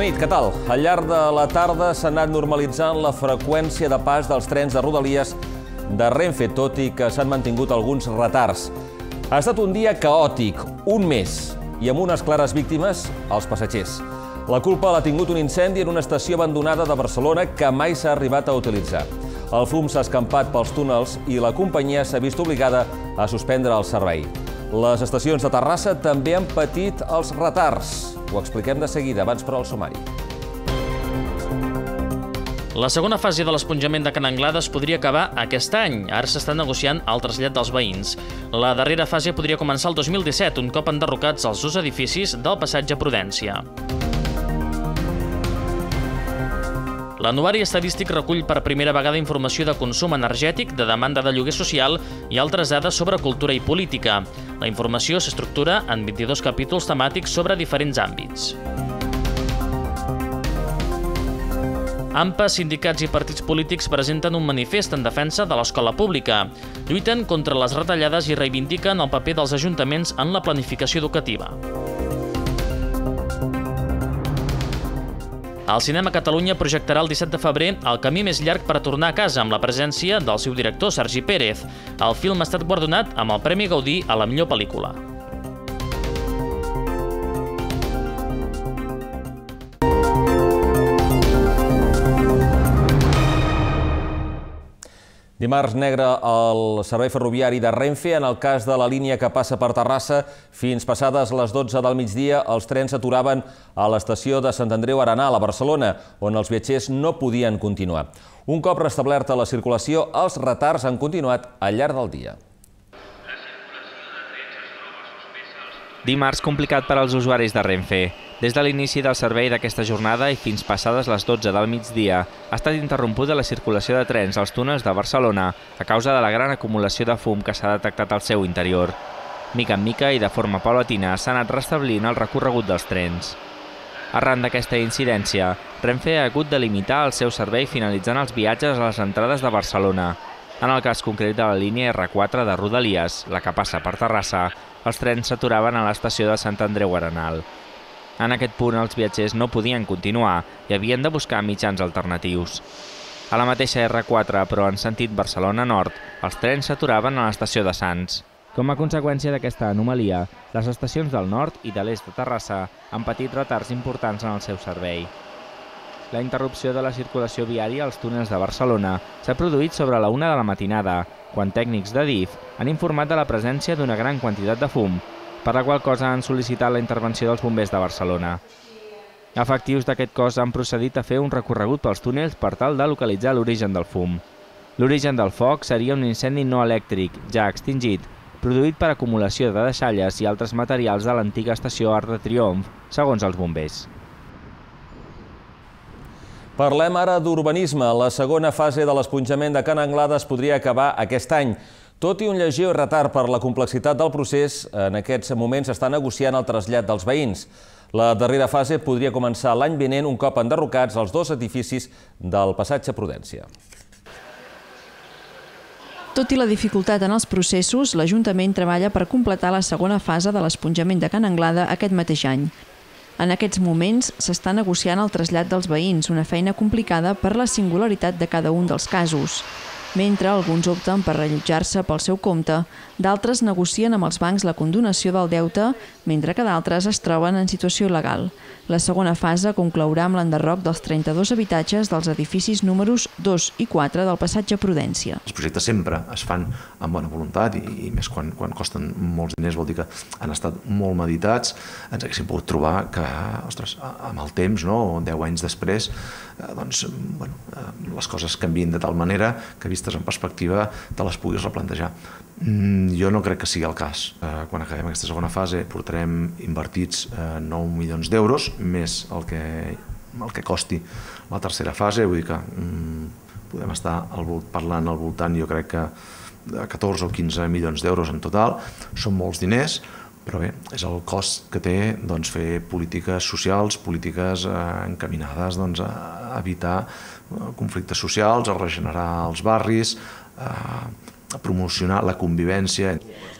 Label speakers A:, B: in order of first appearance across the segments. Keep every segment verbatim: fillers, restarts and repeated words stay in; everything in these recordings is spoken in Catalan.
A: Bona nit, què tal? Al llarg de la tarda s'ha anat normalitzant la freqüència de pas dels trens de Rodalies de Renfe, tot i que s'han mantingut alguns retards. Ha estat un dia caòtic, un mes, i amb unes clares víctimes, els passatgers. La culpa l'ha tingut un incendi en una estació abandonada de Barcelona que mai s'ha arribat a utilitzar. El fum s'ha escampat pels túnels i la companyia s'ha vist obligada a suspendre el servei. Les estacions de Terrassa també han patit els retards. Ho expliquem de seguida, abans però el sumari.
B: La segona fase de l'esponjament de Can Anglada es podria acabar aquest any. Ara s'està negociant el trasllat dels veïns. La darrera fase podria començar el dos mil disset, un cop enderrocats els dos edificis del passatge Prudència. L'anuari estadístic recull per primera vegada informació de consum energètic, de demanda de lloguer social i altres dades sobre cultura i política. La informació s'estructura en vint-i-dos capítols temàtics sobre diferents àmbits. AMPA, sindicats i partits polítics presenten un manifest en defensa de l'escola pública. Lluiten contra les retallades i reivindiquen el paper dels ajuntaments en la planificació educativa. El Cinema Catalunya projectarà el disset de febrer El camí més llarg per a tornar a casa amb la presència del seu director, Sergi Pérez. El film ha estat guardonat amb el Premi Gaudí a la millor pel·lícula.
A: Dimarts negre al servei ferroviari de Renfe. En el cas de la línia que passa per Terrassa, fins passades les dotze del migdia, els trens s'aturaven a l'estació de Sant Andreu Arenal, a Barcelona, on els viatgers no podien continuar. Un cop restablerta la circulació, els retards han continuat al llarg del dia.
C: Dimarts complicat per als usuaris de Renfe. Des de l'inici del servei d'aquesta jornada i fins passades les dotze del migdia, ha estat interrompuda la circulació de trens als túnels de Barcelona a causa de la gran acumulació de fum que s'ha detectat al seu interior. Mica en mica i de forma paulatina s'ha anat restablint el recorregut dels trens. Arran d'aquesta incidència, Renfe ha hagut de limitar el seu servei finalitzant els viatges a les entrades de Barcelona. En el cas concret de la línia erre quatre de Rodalies, la que passa per Terrassa, els trens s'aturaven a l'estació de Sant Andreu Arenal. En aquest punt, els viatgers no podien continuar i havien de buscar mitjans alternatius. A la mateixa erre quatre, però en sentit Barcelona Nord, els trens s'aturaven a l'estació de Sants. Com a conseqüència d'aquesta anomalia, les estacions del nord i de l'est de Terrassa han patit retards importants en el seu servei. La interrupció de la circulació viària als túnels de Barcelona s'ha produït sobre la una de la matinada, quan tècnics de D I F han informat de la presència d'una gran quantitat de fum, per la qual cosa han sol·licitat la intervenció dels bombers de Barcelona. Efectius d'aquest cos han procedit a fer un recorregut pels túnels per tal de localitzar l'origen del fum. L'origen del foc seria un incendi no elèctric, ja extingit, produït per acumulació de deixalles i altres materials de l'antiga estació Arc de Triomf, segons els bombers.
A: Parlem ara d'urbanisme. La segona fase de l'esponjament de Can Anglada es podria acabar aquest any. Tot i un lleuger retard per la complexitat del procés, en aquests moments s'està negociant el trasllat dels veïns. La darrera fase podria començar l'any vinent un cop enderrocats els dos edificis del passatge Prudència.
D: Tot i la dificultat en els processos, l'Ajuntament treballa per completar la segona fase de l'esponjament de Can Anglada aquest mateix any. En aquests moments s'està negociant el trasllat dels veïns, una feina complicada per la singularitat de cada un dels casos. Mentre alguns opten per rellotjar-se pel seu compte, d'altres negocien amb els bancs la condonació del deute, mentre que d'altres es troben en situació il·legal. La segona fase conclourà amb l'enderroc dels trenta-dos habitatges dels edificis números dos i quatre del passatge Prudència.
E: Els projectes sempre es fan amb bona voluntat i, i més quan, quan costen molts diners, vol dir que han estat molt meditats. Ens haguéssim pogut trobar que, ostres, amb el temps, no, deu anys després, eh, doncs, bueno, eh, les coses canvien de tal manera que vistes en perspectiva te les puguis replantejar. Mm, jo no crec que sigui el cas. Eh, quan acabem aquesta segona fase portarem invertits eh, nou milions d'euros, més el que, el que costi la tercera fase, vull dir que mm, podem estar al, parlant al voltant, jo crec que de catorze o quinze milions d'euros en total. Són molts diners, però bé, és el cost que té doncs, fer polítiques socials, polítiques eh, encaminades doncs, a evitar conflictes socials, a regenerar els barris, eh, promocionar la convivència.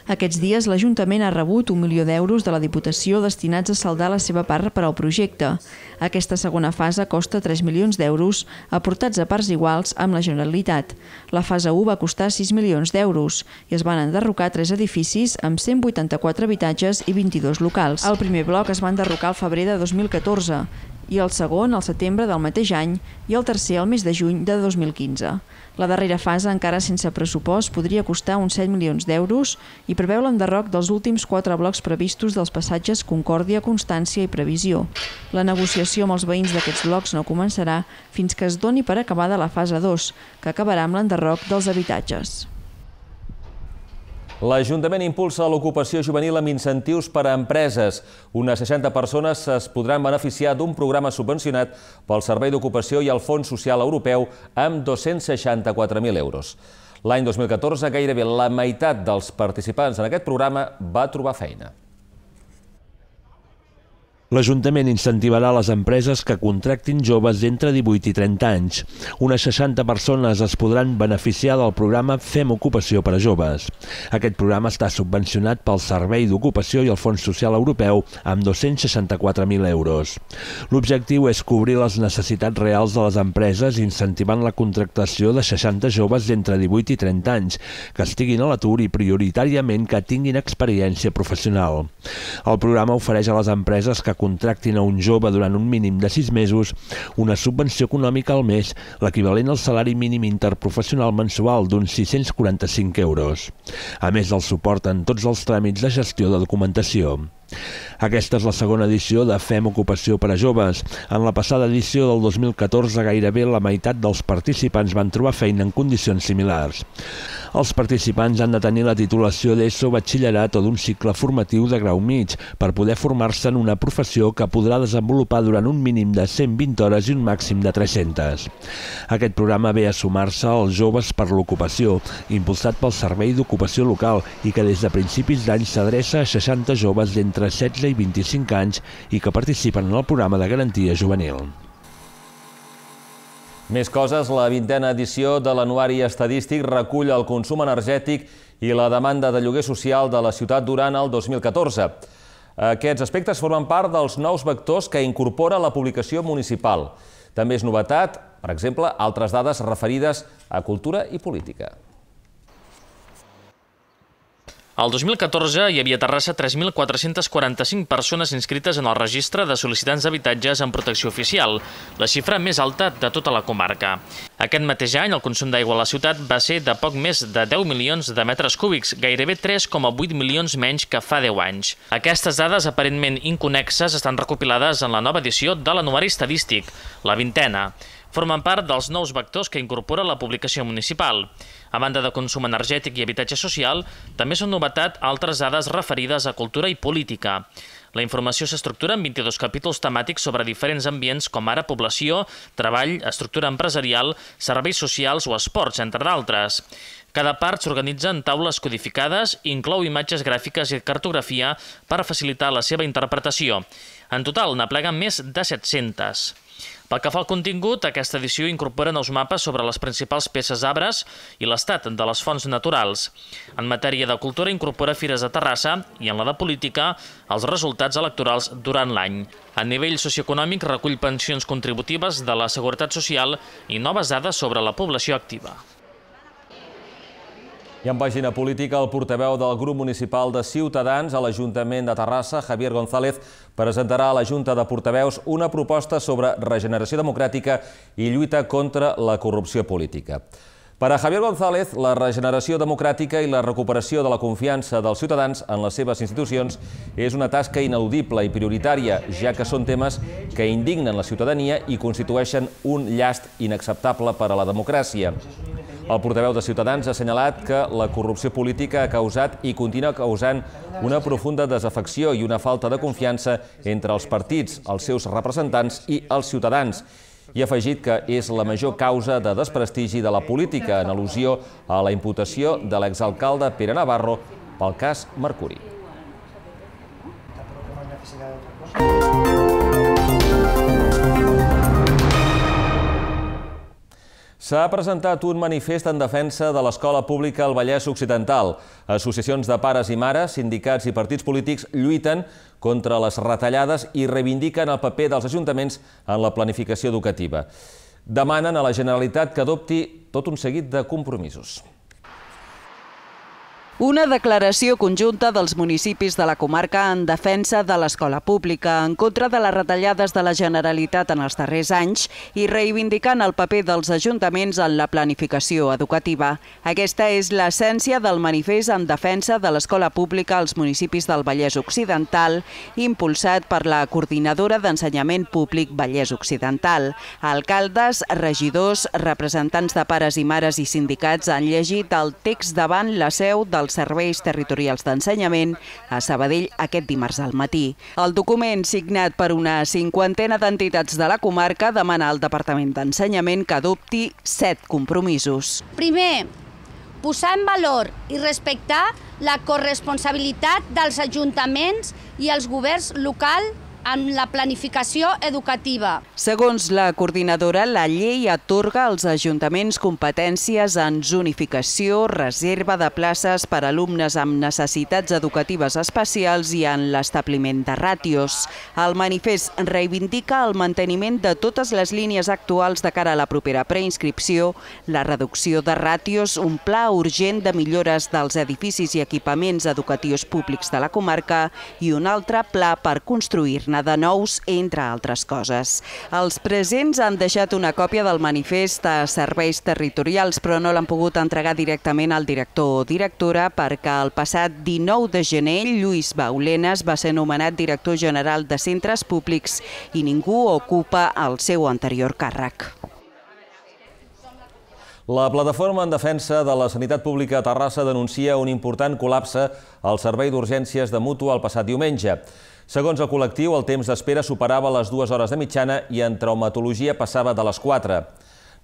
D: Aquests dies l'Ajuntament ha rebut un milió d'euros de la Diputació destinats a saldar la seva part per al projecte. Aquesta segona fase costa tres milions d'euros, aportats a parts iguals amb la Generalitat. La fase u va costar sis milions d'euros i es van enderrocar tres edificis amb cent vuitanta-quatre habitatges i vint-i-dos locals. El primer bloc es va enderrocar al febrer de dos mil catorze i el segon al setembre del mateix any i el tercer al mes de juny de dos mil quinze. La darrera fase, encara sense pressupost, podria costar uns set milions d'euros i preveu l'enderroc dels últims quatre blocs previstos dels passatges Concòrdia, Constància i Previsió. La negociació amb els veïns d'aquests blocs no començarà fins que es doni per acabada la fase dos, que acabarà amb l'enderroc dels habitatges.
A: L'Ajuntament impulsa l'ocupació juvenil amb incentius per a empreses. Unes seixanta persones es podran beneficiar d'un programa subvencionat pel Servei d'Ocupació i el Fons Social Europeu amb dos-cents seixanta-quatre mil euros. L'any dos mil catorze, gairebé la meitat dels participants en aquest programa va trobar feina.
F: L'Ajuntament incentivarà les empreses que contractin joves d'entre divuit i trenta anys. Unes seixanta persones es podran beneficiar del programa Fem Ocupació per a Joves. Aquest programa està subvencionat pel Servei d'Ocupació i el Fons Social Europeu amb dos-cents seixanta-quatre mil euros. L'objectiu és cobrir les necessitats reals de les empreses incentivant la contractació de seixanta joves d'entre divuit i trenta anys que estiguin a l'atur i prioritàriament que tinguin experiència professional. El programa ofereix a les empreses que contractin a un jove durant un mínim de sis mesos una subvenció econòmica al mes, l'equivalent al salari mínim interprofessional mensual d'uns sis-cents quaranta-cinc euros, a més del suport en tots els tràmits de gestió de documentació. Aquesta és la segona edició de Fem Ocupació per a Joves. En la passada edició del dos mil catorze, gairebé la meitat dels participants van trobar feina en condicions similars. Els participants han de tenir la titulació d'ESO, batxillerat o d'un cicle formatiu de grau mig per poder formar-se en una professió que podrà desenvolupar durant un mínim de cent vint hores i un màxim de tres-centes. Aquest programa ve a sumar-se als Joves per l'Ocupació, impulsat pel Servei d'Ocupació Local i que des de principis d'any s'adreça a seixanta joves d'entre setze i vint-i-cinc anys i que participen en el programa de garantia juvenil.
A: Més coses, la vintena edició de l'Anuari Estadístic recull el consum energètic i la demanda de lloguer social de la ciutat durant el dos mil catorze. Aquests aspectes formen part dels nous vectors que incorpora la publicació municipal. També és novetat, per exemple, altres dades referides a cultura i política.
B: El dos mil catorze hi havia a Terrassa tres mil quatre-cents quaranta-cinc persones inscrites en el registre de sol·licitants d'habitatges en protecció oficial, la xifra més alta de tota la comarca. Aquest mateix any el consum d'aigua a la ciutat va ser de poc més de deu milions de metres cúbics, gairebé tres coma vuit milions menys que fa deu anys. Aquestes dades aparentment inconnexes estan recopilades en la nova edició de l'Anuari Estadístic, la vintena. Formen part dels nous vectors que incorpora la publicació municipal. A banda de consum energètic i habitatge social, també són novetat altres dades referides a cultura i política. La informació s'estructura en vint-i-dos capítols temàtics sobre diferents ambients com ara població, treball, estructura empresarial, serveis socials o esports, entre d'altres. Cada part s'organitza en taules codificades i inclou imatges gràfiques i cartografia per facilitar la seva interpretació. En total, n'apleguen més de set-centes. Pel que fa al contingut, aquesta edició incorpora nous mapes sobre les principals peces d'arbres i l'estat de les fonts naturals. En matèria de cultura incorpora fires de Terrassa i en la de política els resultats electorals durant l'any. A nivell socioeconòmic recull pensions contributives de la Seguretat Social i noves dades sobre la població activa.
A: I en pàgina política, el portaveu del grup municipal de Ciutadans a l'Ajuntament de Terrassa, Javier González, presentarà a la Junta de Portaveus una proposta sobre regeneració democràtica i lluita contra la corrupció política. Per a Javier González, la regeneració democràtica i la recuperació de la confiança dels ciutadans en les seves institucions és una tasca ineludible i prioritària, ja que són temes que indignen la ciutadania i constitueixen un llast inacceptable per a la democràcia. El portaveu de Ciutadans ha assenyalat que la corrupció política ha causat i continua causant una profunda desafecció i una falta de confiança entre els partits, els seus representants i els ciutadans. I ha afegit que és la major causa de desprestigi de la política, en al·lusió a la imputació de l'exalcalde Pere Navarro pel cas Mercuri. S'ha presentat un manifest en defensa de l'escola pública al Vallès Occidental. Associacions de pares i mares, sindicats i partits polítics lluiten contra les retallades i reivindiquen el paper dels ajuntaments en la planificació educativa. Demanen a la Generalitat que adopti tot un seguit de compromisos.
G: Una declaració conjunta dels municipis de la comarca en defensa de l'escola pública, en contra de les retallades de la Generalitat en els darrers anys i reivindicant el paper dels ajuntaments en la planificació educativa. Aquesta és l'essència del manifest en defensa de l'escola pública als municipis del Vallès Occidental, impulsat per la Coordinadora d'Ensenyament Públic Vallès Occidental. Alcaldes, regidors, representants de pares i mares i sindicats han llegit el text davant la seu del Serveis Territorials d'Ensenyament a Sabadell aquest dimarts al matí. El document, signat per una cinquantena d'entitats de la comarca, demana al Departament d'Ensenyament que adopti set compromisos.
H: Primer, posar en valor i respectar la corresponsabilitat dels ajuntaments i els governs locals en la planificació educativa.
G: Segons la coordinadora, la llei atorga als ajuntaments competències en zonificació, reserva de places per a alumnes amb necessitats educatives especials i en l'establiment de ràtios. El manifest reivindica el manteniment de totes les línies actuals de cara a la propera preinscripció, la reducció de ràtios, un pla urgent de millores dels edificis i equipaments educatius públics de la comarca i un altre pla per construir-ne de nous, entre altres coses. Els presents han deixat una còpia del manifest a serveis territorials, però no l'han pogut entregar directament al director o directora perquè el passat dinou de gener Lluís Baulenas va ser nomenat director general de centres públics i ningú ocupa el seu anterior càrrec.
A: La plataforma en defensa de la sanitat pública a Terrassa denuncia un important col·lapse al servei d'urgències de Mútua el passat diumenge. Segons el col·lectiu, el temps d'espera superava les dues hores de mitjana i en traumatologia passava de les quatre.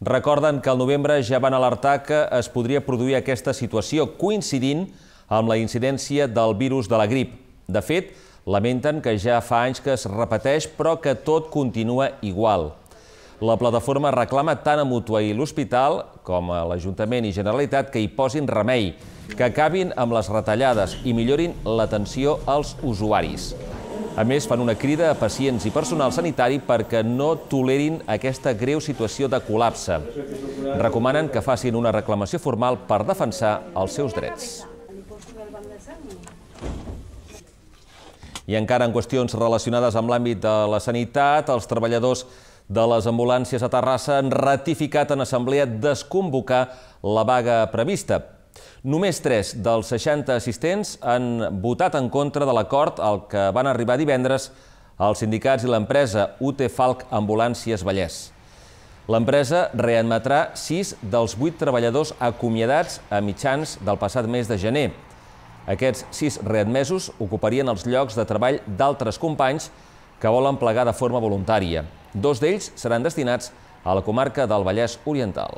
A: Recorden que al novembre ja van alertar que es podria produir aquesta situació coincidint amb la incidència del virus de la grip. De fet, lamenten que ja fa anys que es repeteix, però que tot continua igual. La plataforma reclama tant a Mútua i l'Hospital com a l'Ajuntament i Generalitat que hi posin remei, que acabin amb les retallades i millorin l'atenció als usuaris. A més, fan una crida a pacients i personal sanitari perquè no tolerin aquesta greu situació de col·lapse. Recomanen que facin una reclamació formal per defensar els seus drets. I encara en qüestions relacionades amb l'àmbit de la sanitat, els treballadors de les ambulàncies a Terrassa han ratificat en assemblea desconvocar la vaga prevista. Només tres dels seixanta assistents han votat en contra de l'acord al que van arribar divendres els sindicats i l'empresa U T Falc Ambulàncies Vallès. L'empresa readmetrà sis dels vuit treballadors acomiadats a mitjans del passat mes de gener. Aquests sis readmesos ocuparien els llocs de treball d'altres companys que volen plegar de forma voluntària. Dos d'ells seran destinats a la comarca del Vallès Oriental.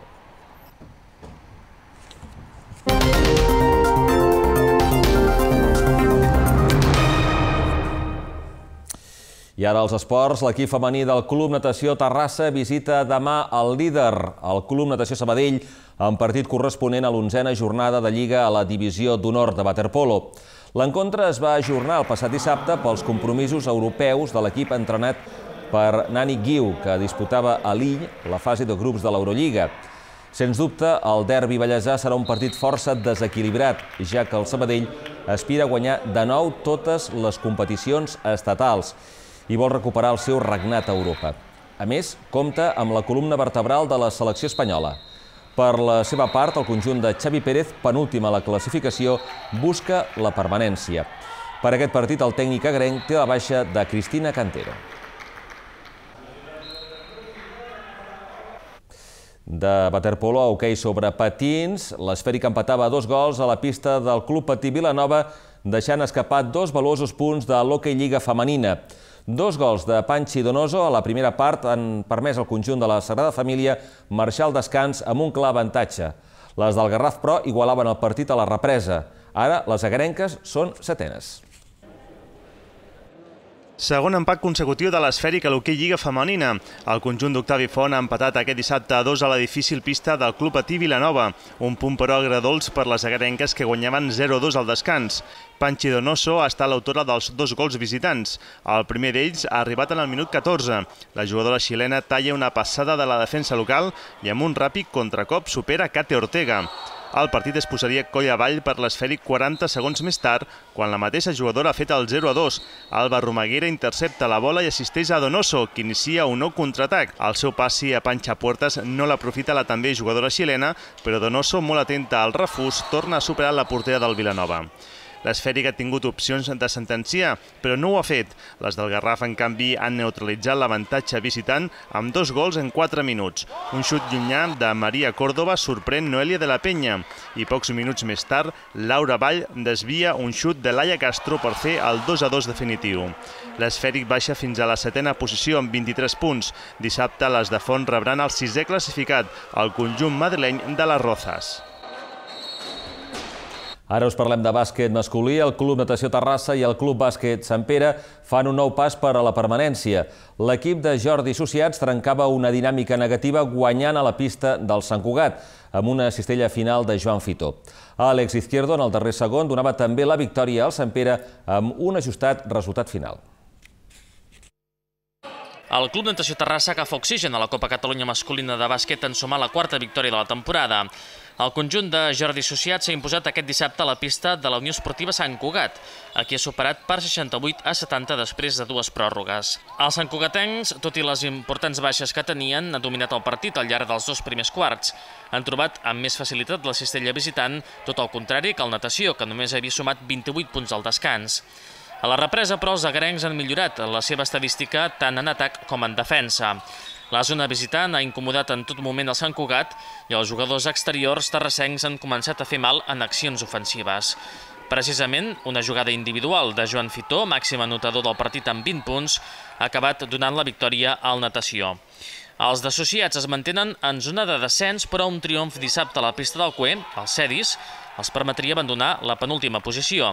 A: I ara als esports, l'equip femení del Club Natació Terrassa visita demà el líder, el Club Natació Sabadell, en partit corresponent a l'onzena jornada de Lliga a la Divisió d'Honor de waterpolo. L'encontre es va ajornar el passat dissabte pels compromisos europeus de l'equip entrenat per Nani Guiu, que disputava a Lill la fase de grups de l'Eurolliga. Sens dubte, el derbi vallesà serà un partit força desequilibrat, ja que el Sabadell aspira a guanyar de nou totes les competicions estatals i vol recuperar el seu regnat a Europa. A més, compta amb la columna vertebral de la selecció espanyola. Per la seva part, el conjunt de Xavi Pérez, penúltim a la classificació, busca la permanència. Per aquest partit, el tècnic agrenc té la baixa de Cristina Cantero. De waterpolo a hoquei sobre patins, l'Esfèric empatava a dos gols a la pista del Club Patí Vilanova, deixant escapar dos valuosos punts de l'Hoquei Lliga femenina. Dos gols de Panchi Donoso a la primera part han permès al conjunt de la Sagrada Família marxar al descans amb un clar avantatge. Les del Garraf, però, igualaven el partit a la represa. Ara, les agrenques són setenes.
I: Segon empat consecutiu de l'esfèric a l'hoquei Lliga femenina. El conjunt d'Octavi Font ha empatat aquest dissabte a dos a la difícil pista del Club Patí Vilanova. Un punt però agradols per les agarenques que guanyaven zero a dos al descans. Panchi Donoso ha estat l'autora dels dos gols visitants. El primer d'ells ha arribat en el minut catorze. La jugadora xilena talla una passada de la defensa local i amb un ràpid contracop supera Kate Ortega. El partit es posaria coll avall per l'esfèric quaranta segons més tard, quan la mateixa jugadora ha fet el zero a dos. Alba Romaguera intercepta la bola i assisteix a Donoso, que inicia un nou contraatac. El seu passi a Pancha Puertas no l'aprofita la també jugadora xilena, però Donoso, molt atenta al refús, torna a superar la portera del Vilanova. L'esfèric ha tingut opcions de sentenciar, però no ho ha fet. Les del Garraf, en canvi, han neutralitzat l'avantatge visitant amb dos gols en quatre minuts. Un xut llunyà de Maria Córdoba sorprèn Noelia de la Penya i pocs minuts més tard, Laura Vall desvia un xut de Laia Castro per fer el dos a dos definitiu. L'esfèric baixa fins a la setena posició amb vint-i-tres punts. Dissabte les de Font rebran el sisè classificat, el conjunt madrileny de les Rozas.
A: Ara us parlem de bàsquet masculí. El Club Natació Terrassa i el Club Bàsquet Sant Pere fan un nou pas per a la permanència. L'equip de Jordi Associats trencava una dinàmica negativa guanyant a la pista del Sant Cugat, amb una cistella final de Joan Fitó. Àlex Izquierdo, en el darrer segon, donava també la victòria al Sant Pere amb un ajustat resultat final.
B: El Club Natació Terrassa agafa oxigen a la Copa Catalunya masculina de bàsquet en sumar la quarta victòria de la temporada. El conjunt de Jordi Associats s'ha imposat aquest dissabte a la pista de la Unió Esportiva Sant Cugat, a qui ha superat per seixanta-vuit a setanta després de dues pròrrogues. Els santcugatencs, tot i les importants baixes que tenien, han dominat el partit al llarg dels dos primers quarts. Han trobat amb més facilitat la cistella visitant, tot el contrari que el Natació, que només havia sumat vint-i-vuit punts al descans. A la represa, però, els agarencs han millorat la seva estadística tant en atac com en defensa. La zona visitant ha incomodat en tot moment el Sant Cugat i els jugadors exteriors terrassencs han començat a fer mal en accions ofensives. Precisament, una jugada individual de Joan Fitó, màxim anotador del partit amb vint punts, ha acabat donant la victòria al Natació. Els d'associats es mantenen en zona de descens, però un triomf dissabte a la pista del Cué, els Cedis, els permetria abandonar la penúltima posició.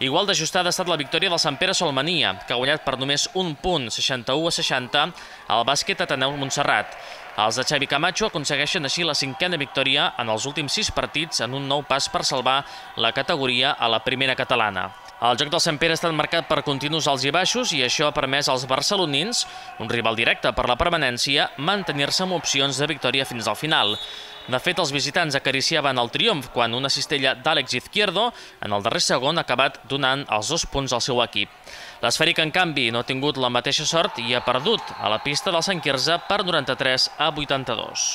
B: Igual d'ajustada ha estat la victòria del Sant Pere Solmania, que ha guanyat per només un punt, seixanta-u a seixanta, al bàsquet Ateneu Montserrat. Els de Xavi Camacho aconsegueixen així la cinquena victòria en els últims sis partits en un nou pas per salvar la categoria a la primera catalana. El joc del Sant Pere ha estat marcat per continus alts i baixos i això ha permès als barcelonins, un rival directe per la permanència, mantenir-se amb opcions de victòria fins al final. De fet, els visitants acariciaven el triomf quan una cistella d'Àlex Izquierdo en el darrer segon ha acabat donant els dos punts al seu equip. L'esfèric, en canvi, no ha tingut la mateixa sort i ha perdut a la pista del Sant Quirze per noranta-tres a vuitanta-dos.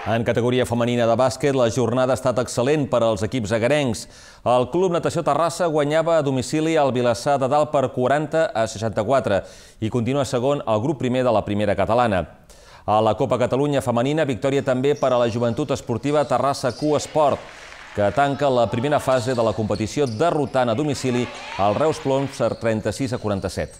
A: En categoria femenina de bàsquet, la jornada ha estat excel·lent per als equips agarencs. El Club Natació Terrassa guanyava a domicili al Vilassar de Dalt per quaranta a seixanta-quatre i continua segon al grup primer de la primera catalana. A la Copa Catalunya femenina, victòria també per a la Joventut Esportiva Terrassa Q Esport, que tanca la primera fase de la competició derrotant a domicili el Reus Ploms per trenta-sis a quaranta-set.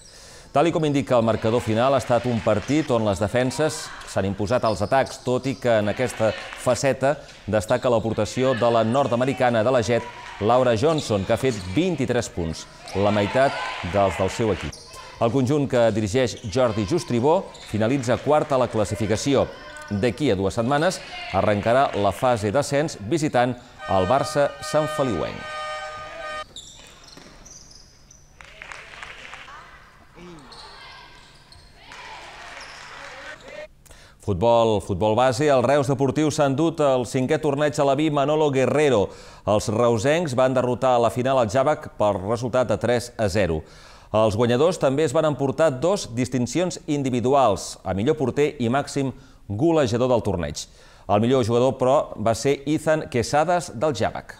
A: Tal com indica el marcador final, ha estat un partit on les defenses s'han imposat als atacs, tot i que en aquesta faceta destaca l'aportació de la nord-americana de la Jet, Laura Johnson, que ha fet vint-i-tres punts, la meitat dels del seu equip. El conjunt que dirigeix Jordi Justribó finalitza quart a la classificació. D'aquí a dues setmanes arrencarà la fase d'ascens visitant el Barça Sant Feliuenc. Futbol, futbol base, el Reus Deportiu s'ha endut el cinquè torneig a la B Manolo Guerrero. Els reusencs van derrotar a la final el Javac per resultat de tres a zero. Els guanyadors també es van emportar dos distincions individuals, a millor porter i màxim golejador del torneig. El millor jugador, però, va ser Ethan Quesadas del Javac.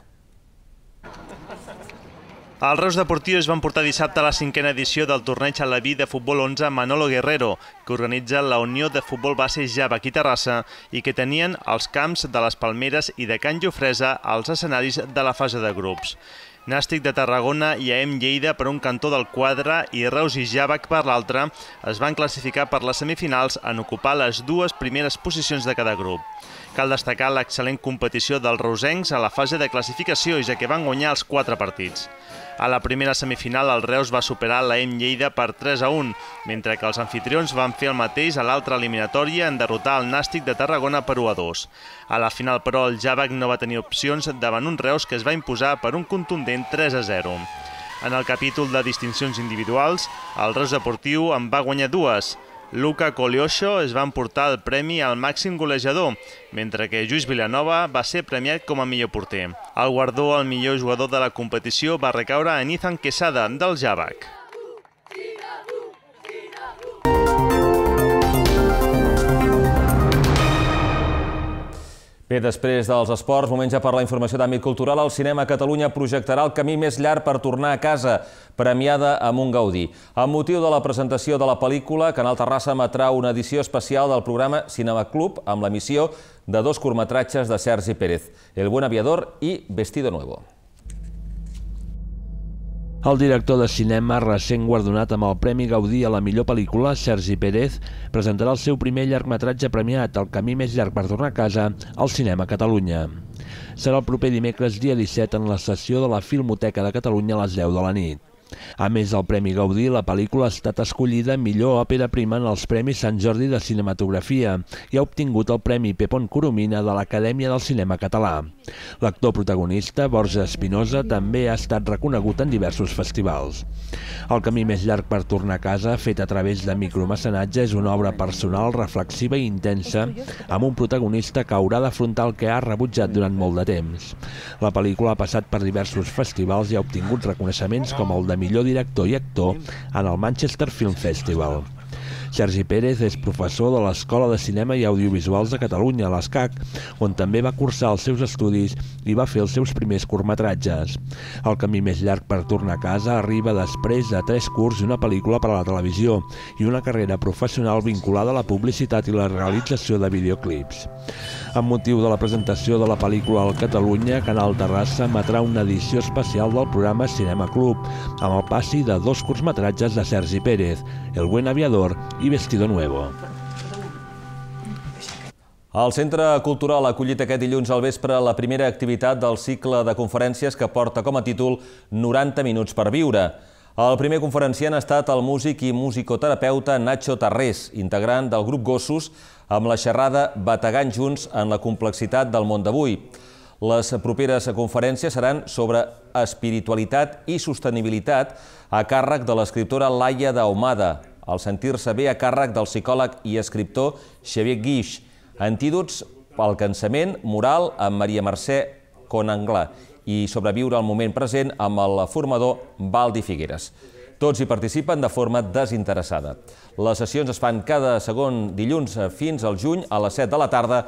I: Els Reus Deportius van portar dissabte a la cinquena edició del torneig a la B de futbol onze Manolo Guerrero, que organitza la Unió de Futbol Base Javac i Terrassa i que tenien els camps de les Palmeres i de Can Jofresa als escenaris de la fase de grups. Nàstic de Tarragona i A E M Lleida per un cantó del quadre i Reus i Javac per l'altre es van classificar per les semifinals en ocupar les dues primeres posicions de cada grup. Cal destacar l'excel·lent competició dels reusencs a la fase de classificació, ja que van guanyar els quatre partits. A la primera semifinal, el Reus va superar l'A E M Lleida per tres a un, mentre que els anfitrions van fer el mateix a l'altra eliminatòria en derrotar el Nàstic de Tarragona per u a dos. A la final, però, el Javac no va tenir opcions davant un Reus que es va imposar per un contundent tres a zero. En el capítol de distincions individuals, el Reus Deportiu en va guanyar dues. Luca Colioso es va emportar el premi al màxim golejador, mentre que Lluís Vilanova va ser premiat com a millor porter. El guardó al millor jugador de la competició va recaure en Ethan Quesada, del Javac.
A: Bé, després dels esports, moment ja per la informació d'àmbit cultural. El Cinema Catalunya projectarà El camí més llarg per tornar a casa, premiada amb un Gaudí. Amb motiu de la presentació de la pel·lícula, Canal Terrassa emetrà una edició especial del programa Cinema Club amb l'emissió de dos curtmetratges de Sergi Pérez, El buen aviador i Vestido nuevo.
F: El director de cinema, recent guardonat amb el Premi Gaudí a la millor pel·lícula, Sergi Pérez, presentarà el seu primer llargmetratge premiat, El camí més llarg per tornar a casa, al Cinema Catalunya. Serà el proper dimecres, dia disset, en la sessió de la Filmoteca de Catalunya a les deu de la nit. A més del Premi Gaudí, la pel·lícula ha estat escollida millor òpera prima en els Premis Sant Jordi de Cinematografia i ha obtingut el Premi Pepón Coromina de l'Acadèmia del Cinema Català. L'actor protagonista, Borja Espinosa, també ha estat reconegut en diversos festivals. El camí més llarg per tornar a casa, fet a través de micromecenatge, és una obra personal, reflexiva i intensa, amb un protagonista que haurà d'afrontar el que ha rebutjat durant molt de temps. La pel·lícula ha passat per diversos festivals i ha obtingut reconeixements com el de millor director i actor en el Manchester Film Festival. Sergi Pérez és professor de l'Escola de Cinema i Audiovisuals de Catalunya, a l'ESCAC, on també va cursar els seus estudis i va fer els seus primers curtmetratges. El camí més llarg per tornar a casa arriba després de tres curts i una pel·lícula per a la televisió i una carrera professional vinculada a la publicitat i la realització de videoclips. Amb motiu de la presentació de la pel·lícula al Catalunya, Canal Terrassa emetrà una edició especial del programa Cinema Club, amb el passi de dos curtmetratges de Sergi Pérez, El buen aviador i Vestido nuevo.
A: El Centre Cultural ha acollit aquest dilluns al vespre la primera activitat del cicle de conferències que porta com a títol noranta minuts per viure. El primer conferenciant ha estat el músic i musicoterapeuta Nacho Tarrés, integrant del grup Gossos, amb la xerrada Bategant junts en la complexitat del món d'avui. Les properes conferències seran sobre espiritualitat i sostenibilitat a càrrec de l'escriptora Laia d'Ahumada, el sentir-se bé a càrrec del psicòleg i escriptor Xavier Guix, antídots pel cansament moral amb Maria Mercè Conanglà i sobreviure al moment present amb el formador Valdi Figueres. Tots hi participen de forma desinteressada. Les sessions es fan cada segon dilluns fins al juny a les set de la tarda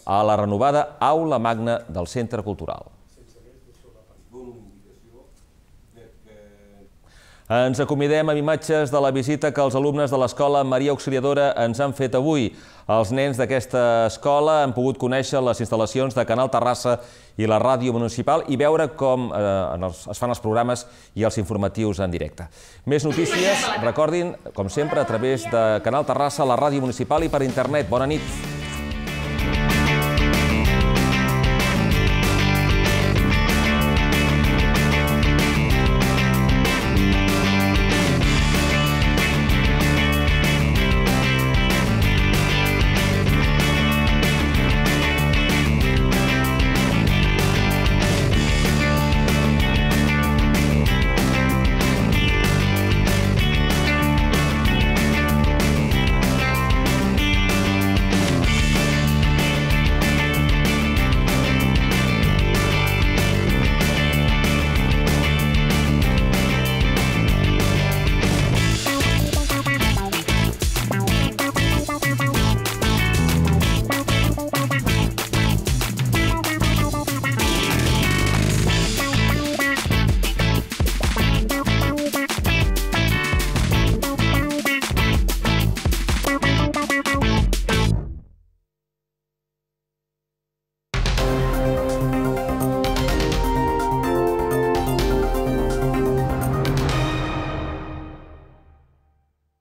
A: a la renovada Aula Magna del Centre Cultural. Ens acomidem amb imatges de la visita que els alumnes de l'Escola Maria Auxiliadora ens han fet avui. Els nens d'aquesta escola han pogut conèixer les instal·lacions de Canal Terrassa i la ràdio municipal i veure com es fan els programes i els informatius en directe. Més notícies, recordin, com sempre, a través de Canal Terrassa, la ràdio municipal i per internet. Bona nit.